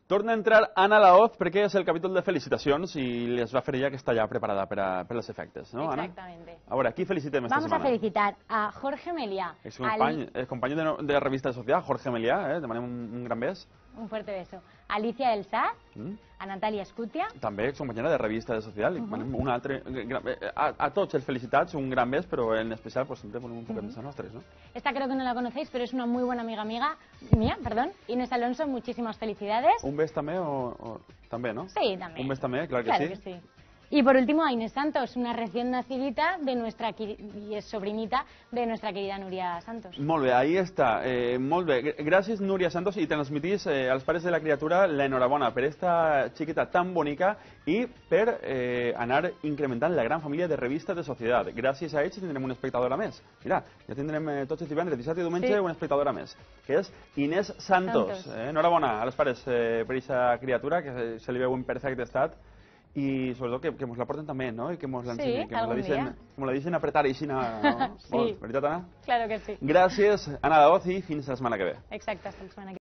Torna a entrar Anna Laoz perquè és el capítol de felicitacions i les va fer ella que està ja preparada per als efectes, no, Anna? Exactamente. A veure, qui felicitem esta setmana? Vamos a felicitar a Jorge Meliá. Company de Revista de Sociedad, Jorge Meliá, demanem un gran bes. Un fuerte beso. Alicia del Saz, a Natalia Escutia. També excompanyera de Revista de Social. Un altre, a tots els felicitats, un gran bes, però en especial pues, sempre ponem un poquet més a nostres, ¿no? Esta creo que no la conocéis, pero es una muy buena amiga mía, Inés Alonso, muchísimas felicidades. Un bes també o també, no? Sí, también. Un bes també, clar que Claro que sí. Y por último a Inés Santos, una recién nacidita y es sobrinita de nuestra querida Núria Santos. Molt bé, ahí està. Molt bé. Gràcies, Núria Santos, i transmetís als pares de la criatura l'enhorabona per esta xiqueta tan bonica i per anar incrementant la gran família de Revista de Societat. Gràcies a ells tindrem una espectadora més. Mira, ja tindrem tots els divendres, dissabte i diumenge una espectadora més, que és Inés Santos. Enhorabona als pares per aquesta criatura, que se li veu en perfecte estat, i sobretot que ens la porten també, no? I que ens l'ensenyen, que ens la deixen apretar així, no? Sí. Veritat, Anna? Claro que sí. Gràcies, Anna Laoz, i fins la setmana que ve. Exacte, hasta la setmana que ve.